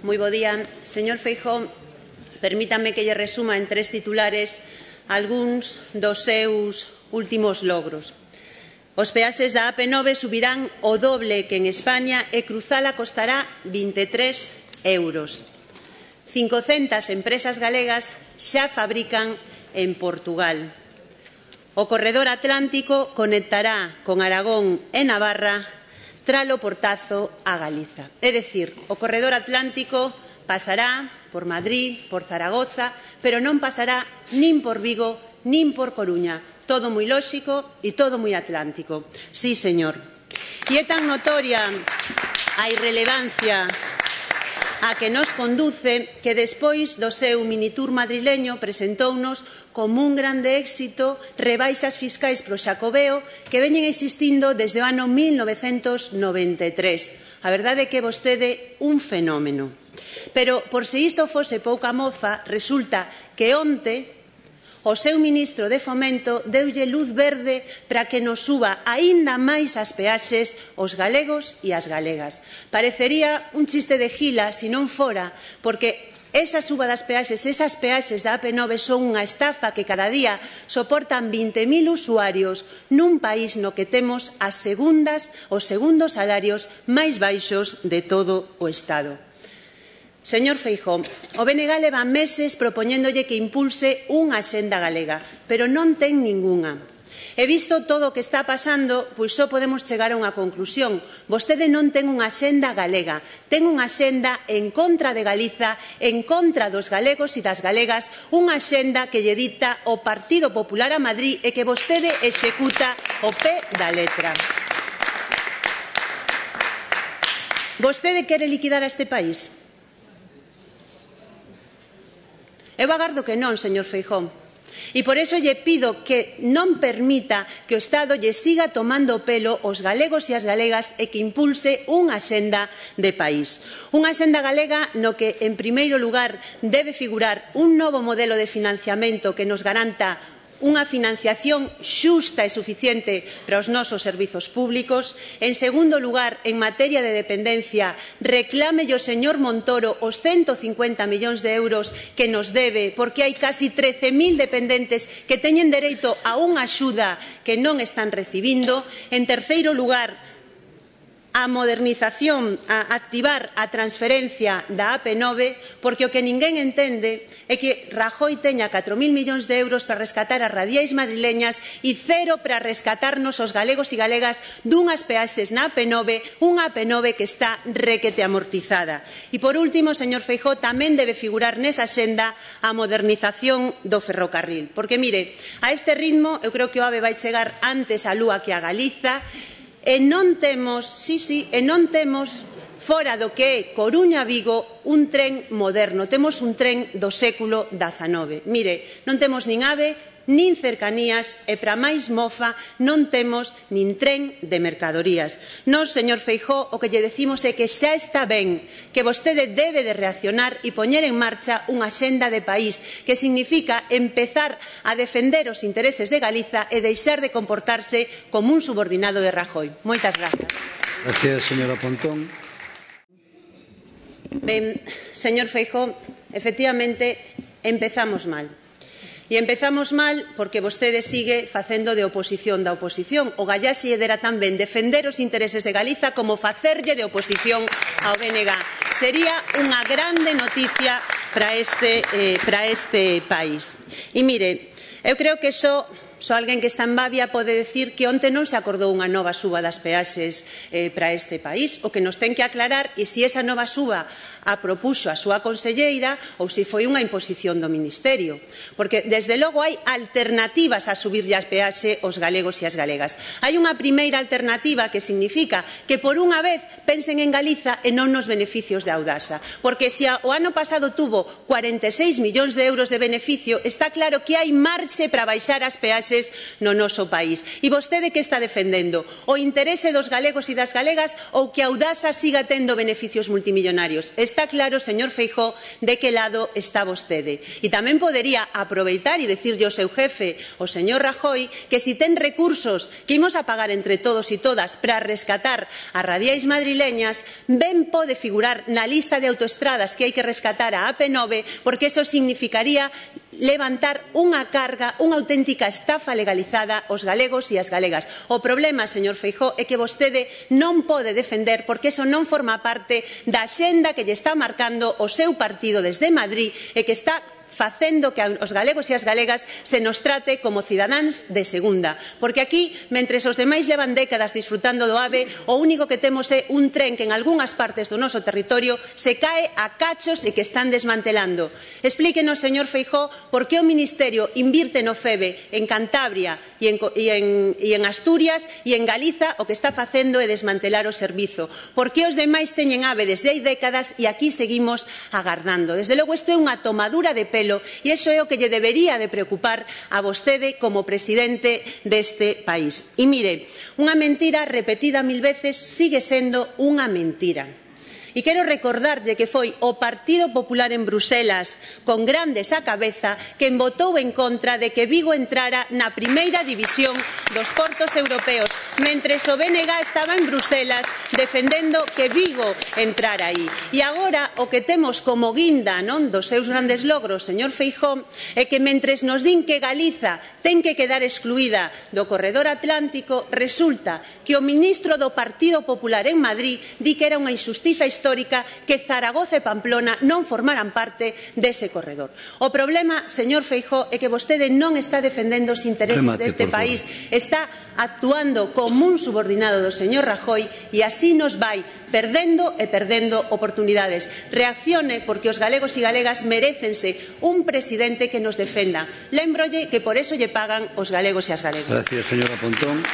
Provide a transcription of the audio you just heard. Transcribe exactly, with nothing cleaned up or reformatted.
moi bo día. Señor Feijóo, permítame que lle resuma en tres titulares algúns dos seus últimos logros. Os peaxes da A P nove subirán o doble que en España e cruzala costará vinte e tres euros. cincocentas empresas galegas xa fabrican en Portugal. O corredor atlántico conectará con Aragón e Navarra tralo portazo a Galiza. É dicir, o corredor atlántico pasará por Madrid, por Zaragoza, pero non pasará nin por Vigo, nin por Coruña. Todo moi lóxico e todo moi atlántico. Sí, señor. E é tan notoria a irrelevancia a que nos conduce que despois do seu minitour madrileño presentounos como un grande éxito rebaixas fiscais pro Xacobeo que veñen existindo desde o ano mil novecentos noventa e tres. A verdade é que vostede un fenómeno. Pero, por se isto fose pouca mofa, resulta que onte o seu ministro de Fomento deulle luz verde para que nos suba aínda máis as peaxes os galegos e as galegas. Parecería un chiste de gila se non fora, porque esa suba das peaxes, esas peaxes da A P nove son unha estafa que cada día soportan vinte mil usuarios nun país no que temos as segundas, os segundos salarios máis baixos de todo o Estado. Señor Feijóo, o B N G leva meses propoñéndolle que impulse unha axenda galega, pero non ten ningunha. He visto todo o que está pasando, pois só podemos chegar a unha conclusión. Vostede non ten unha axenda galega, ten unha axenda en contra de Galiza, en contra dos galegos e das galegas, unha axenda que lle dicta o Partido Popular a Madrid e que vostede executa o pé da letra. Vostede quere liquidar a este país? Eu agardo que non, señor Feijóo. E por iso lle pido que non permita que o Estado lle siga tomando o pelo aos galegos e as galegas e que impulse unha axenda de país. Unha axenda galega no que, en primeiro lugar, debe figurar un novo modelo de financiamento que nos garanta unha financiación xusta e suficiente para os nosos servizos públicos. En segundo lugar, en materia de dependencia, reclámelle o señor Montoro os ciento cincuenta millóns de euros que nos debe, porque hai casi trece mil dependentes que teñen dereito a unha axuda que non están recibindo. En terceiro lugar, a modernización, a activar a transferencia da A P nove, porque o que ninguén entende é que Rajoy teña catro mil millóns de euros para rescatar as radiais madrileñas e cero para rescatarnos os galegos e galegas dunhas peaxes na A P nove, unha A P nove que está requete amortizada. E, por último, señor Feijóo, tamén debe figurar nesa axenda a modernización do ferrocarril. Porque, mire, a este ritmo, eu creo que o AVE vai chegar antes á Lúa que a Galiza. E non temos, sí, sí, e non temos fora do que é Coruña-Vigo un tren moderno, temos un tren do século dezanove. Mire, non temos nin AVE, nin cercanías e, para máis mofa, non temos nin tren de mercadorías. Nós, señor Feijóo, o que lle decimos é que xa está ben, que vostede debe de reaccionar e poñer en marcha unha axenda de país, que significa empezar a defender os intereses de Galiza e deixar de comportarse como un subordinado de Rajoy. Moitas grazas. Gracias, señora Pontón. Ben, señor Feijóo, efectivamente, empezamos mal. E empezamos mal porque vostede sigue facendo de oposición da oposición. O Gallaxe lle dera tamén defender os intereses de Galiza como facerlle de oposición ao B N G. Sería unha grande noticia para este, eh, para este país. E mire, eu creo que só Só alguén que está en Babia pode decir que onte non se acordou unha nova suba das peaxes eh, para este país. O que nos ten que aclarar é se esa nova suba a propuxo a súa conselleira ou se foi unha imposición do Ministerio. Porque, desde logo, hai alternativas a subirlle a peaxe aos galegos e as galegas. Hai unha primeira alternativa que significa que, por unha vez, pensen en Galiza e non nos beneficios de Audasa. Porque se o ano pasado tuvo cuarenta e seis millóns de euros de beneficio, está claro que hai marxe para baixar as peaxes no noso país. E vostede que está defendendo? O interese dos galegos e das galegas ou que Audasa siga tendo beneficios multimillonarios? Está está claro, señor Feijóo, de que lado está vostede. E tamén podería aproveitar e dicirlle ao seu jefe, o señor Rajoy, que si ten recursos que imos a pagar entre todos e todas para rescatar as radiais madrileñas, ben pode figurar na lista de autoestradas que hai que rescatar a A P nove, porque eso significaría levantar unha carga, unha auténtica estafa legalizada aos galegos e as galegas. O problema, señor Feijóo, é que vostede non pode defender porque eso non forma parte da axenda que lle está marcando o seu partido desde Madrid e que está facendo que os galegos e as galegas se nos trate como cidadáns de segunda. Porque aquí, mentres os demais levan décadas disfrutando do AVE, o único que temos é un tren que en algunhas partes do noso territorio se cae a cachos e que están desmantelando. Explíquenos, señor Feijóo, por que o Ministerio invirte no FEBE en Cantabria e en, e en, e en Asturias e en Galiza o que está facendo é desmantelar o servizo. Por que os demais teñen AVE desde hai décadas e aquí seguimos agardando. Desde logo, isto é unha tomadura de pelo e iso é o que lle debería de preocupar a vostede como presidente deste país. E mire, unha mentira repetida mil veces sigue sendo unha mentira. E quero recordarlle que foi o Partido Popular en Bruselas, con Grandes á cabeza, quen votou en contra de que Vigo entrara na primeira división dos portos europeos, mentres o B N G estaba en Bruselas defendendo que Vigo entrara aí. E agora o que temos como guinda non dos seus grandes logros, señor Feijóo, é que mentres nos din que Galiza ten que quedar excluída do corredor atlántico, resulta que o ministro do Partido Popular en Madrid di que era unha injustiza histórica histórica que Zaragoza e Pamplona non formaran parte dese corredor. O problema, señor Feijóo, é que vostede non está defendendo os intereses Remate, deste país, está actuando como un subordinado do señor Rajoy e así nos vai perdendo e perdendo oportunidades. Reaccione porque os galegos e galegas merécense un presidente que nos defenda. Lémbrolle que por eso lle pagan os galegos e as galegas. Gracias, señora Pontón.